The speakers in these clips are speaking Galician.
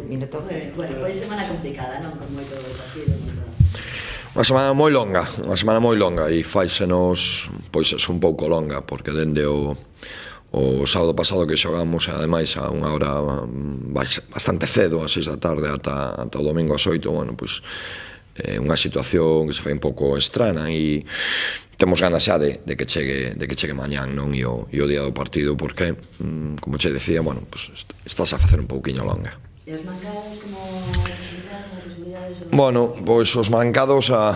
Minuto. Bueno, foi semana complicada, non? Con moito partido, Unha semana moi longa e faisenos, pois, un pouco longa, porque dende o sábado pasado que xogamos, ademais, a unha hora bastante cedo, a 6 da tarde, ata o domingo ás 8, bueno, pois, unha situación que se fai un pouco estrana e temos ganas xa de que chegue mañán, non? E o día do partido, porque, como che decía, bueno, pois, estás a facer un pouquiño longa. E os mancados, como posibilidades? Bueno, pois os mancados, a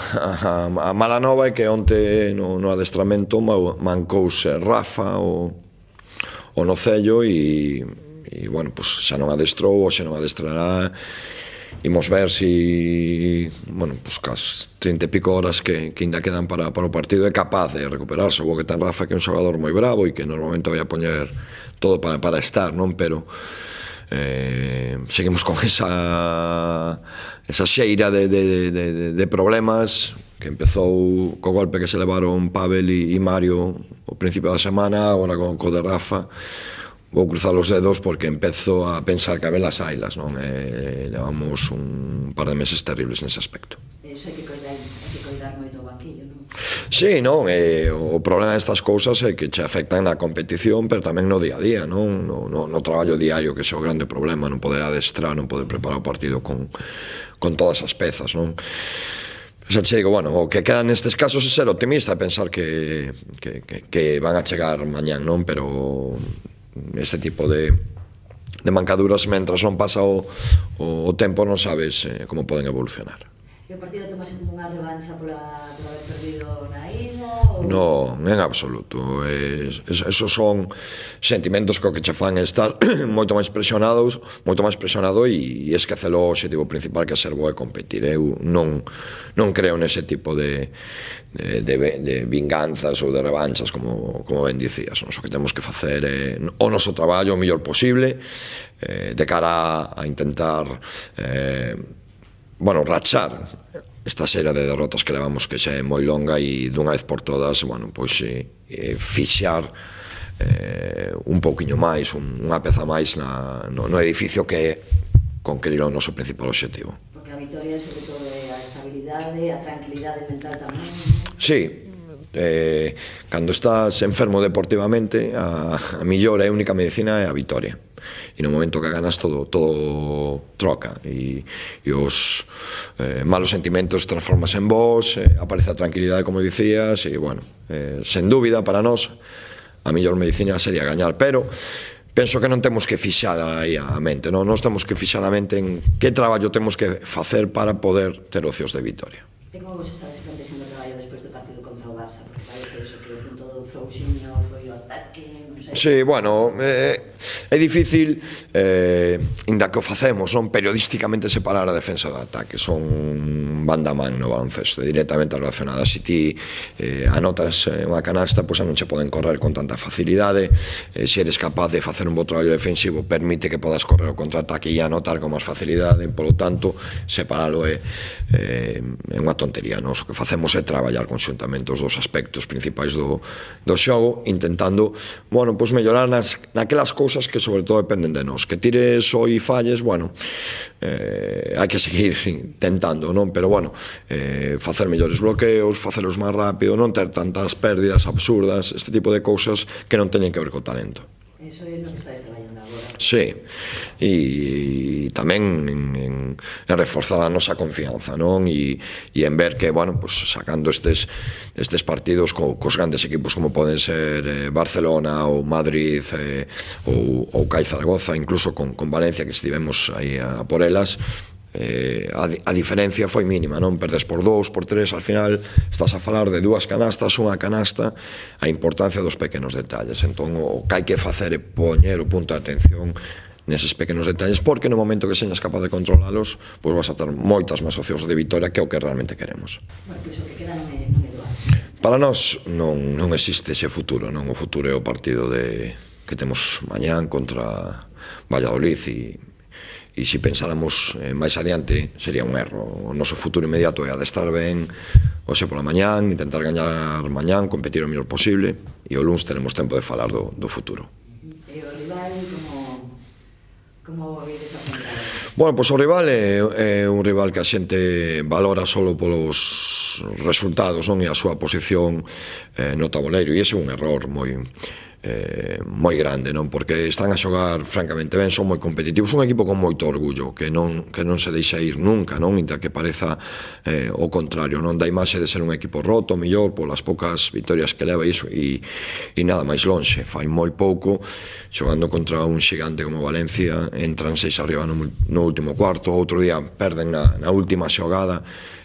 mala nova é que onte no adestramento mancouse Rafa o Nocello e, bueno, pois xa non adestrou, ou xa non adestrará. Imos ver si, bueno, pois cas 30 e pico horas que ainda quedan para o partido é capaz de recuperarse. O que ten Rafa, que é un xogador moi bravo e que normalmente vai a poñer todo para estar, non? Pero seguimos con esa xeira de problemas que empezou co golpe que se levaron Pavel e Mario ao principio da semana. Agora co de Rafa vou cruzar os dedos porque empezo a pensar que a ver as ailas, non? Levamos un par de meses terribles nese aspecto. Iso hai que coidar moito o banquillo, non? Sí, non, o problema destas cousas é que che afectan na competición, pero tamén no día a día, non? No traballo diario, que é o grande problema, non poder adestrar, non poder preparar o partido con todas as pezas, non? Xa che digo, bueno, o que queda nestes casos é ser optimista, pensar que van a chegar mañán, non? Pero este tipo de mancaduras, mentras non pasa o tempo, non sabes como poden evolucionar. E o partido tomase como unha revancha por haber perdido na ida? Non, en absoluto. Esos son sentimentos que che fan estar moito máis presionado e esquecer o objetivo principal, que é ser bo e competir. Eu non creo nese tipo de vinganzas ou de revanchas, como ben dicías. O que temos que facer é o noso traballo o mellor posible de cara a intentar rachar esta serie de derrotas que levamos, que xa é moi longa, e dunha vez por todas, bueno, pois fixar un pouquiño máis, unha peza máis no edificio que é conquerir o noso principal objetivo. Porque a vitoria, sobre todo, é a estabilidade, a tranquilidade mental tamén. Sí, cando estás enfermo deportivamente, a millor e única medicina é a vitoria. E no momento que ganas, todo troca, e os malos sentimentos transformas en vos, aparece a tranquilidade, como dicías, e, bueno, sen dúbida, para nós, a millor medicina sería gañar, pero penso que non temos que fixar aí a mente, non? Nós temos que fixar a mente en que traballo temos que facer para poder ter opcións de vitoria. E como vos estades plantexando o traballo despois do partido contra o Barça? Porque parece iso que o punto do Frouxinho foi o ataque, non sei... Sí, bueno, é difícil, inda que o facemos, non, periodísticamente separar a defensa do ataque. Son banda man no baloncesto, directamente relacionadas. Se ti anotas unha canasta, pois non che poden correr con tanta facilidade. Se eres capaz de facer un bo traballo defensivo, permite que podas correr o contraataque e anotar con máis facilidade. Polo tanto, separalo é unha tontería. O que facemos é traballar conxuntamente os dos aspectos principais do xogo, intentando, bueno, pois mellorar naquelas cousas que sobre todo dependen de nós. Que tires ou e falles, bueno, hai que seguir intentando, non? Pero, bueno, facer mellores bloqueos, facelos máis rápido, non ter tantas pérdidas absurdas, este tipo de cousas que non teñen que ver co talento. Iso é no que estáis traballando agora. Sí, e tamén en reforzar a nosa confianza, non? E en ver que, bueno, pues sacando estes partidos cos grandes equipos como poden ser Barcelona ou Madrid ou CAI Zaragoza, incluso con Valencia, que estivemos aí a por elas, a diferencia foi mínima, non? Perdes por 2, por 3, al final estás a falar de 2 canastas, unha canasta, a importancia dos pequenos detalles. Entón, o que hai que facer é poñer o punto de atención neses pequenos detalles, porque no momento que señas capaz de controlalos, pois vas a ter moitas máis opcións de vitoria, que é o que realmente queremos. Bueno, pois o que queda non é doar. Para nós non existe ese futuro, non? O futuro é o partido que temos mañán contra Valladolid, e se pensáramos máis adiante sería un erro. O noso futuro inmediato é adestrar ben hoxe pola mañán, intentar gañar mañán, competir o mellor posible, e o luns teremos tempo de falar do futuro. E o rival, como vedes afrontado? Bueno, pois o rival é un rival que a xente valora solo polos resultados, non? E a súa posición no tabuleiro, e ese é un error moi grande, non? Porque están a xogar francamente ben, son moi competitivos, un equipo con moito orgullo, que non se deixa ir nunca, non? Inda que pareza o contrario, non? Da imaxe de ser un equipo roto, mellor, polas poucas vitorias que leva iso, e nada máis lonxe. Fai moi pouco, xogando contra un xigante como Valencia, entran 6 arriba no último cuarto, outro día perden na última xogada.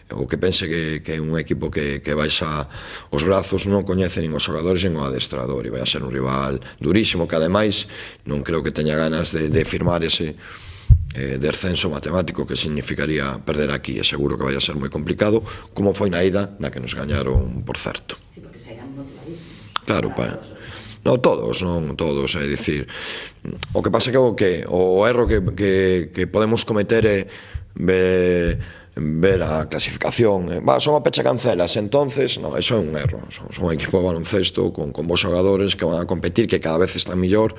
O que pense que é un equipo que baixa os brazos, non coñece nin os xogadores nin o adestrador, e vai a ser un rival durísimo, que ademais non creo que teña ganas de firmar ese descenso matemático que significaría perder aquí, e seguro que vai a ser moi complicado, como foi na ida, na que nos gañaron por certo. Sí, porque sairán motivadísimos. Claro, non todos, é dicir, o que pasa que o erro que podemos cometer é ver a clasificación, son a pecha cancelas, entonces, non, eso é un erro. Son un equipo de baloncesto con bons xogadores que van a competir, que cada vez están mellor,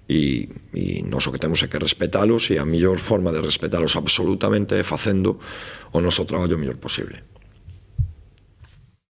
e nos o que temos é que respetalos, e a mellor forma de respetalos absolutamente é facendo o noso traballo o mellor posible.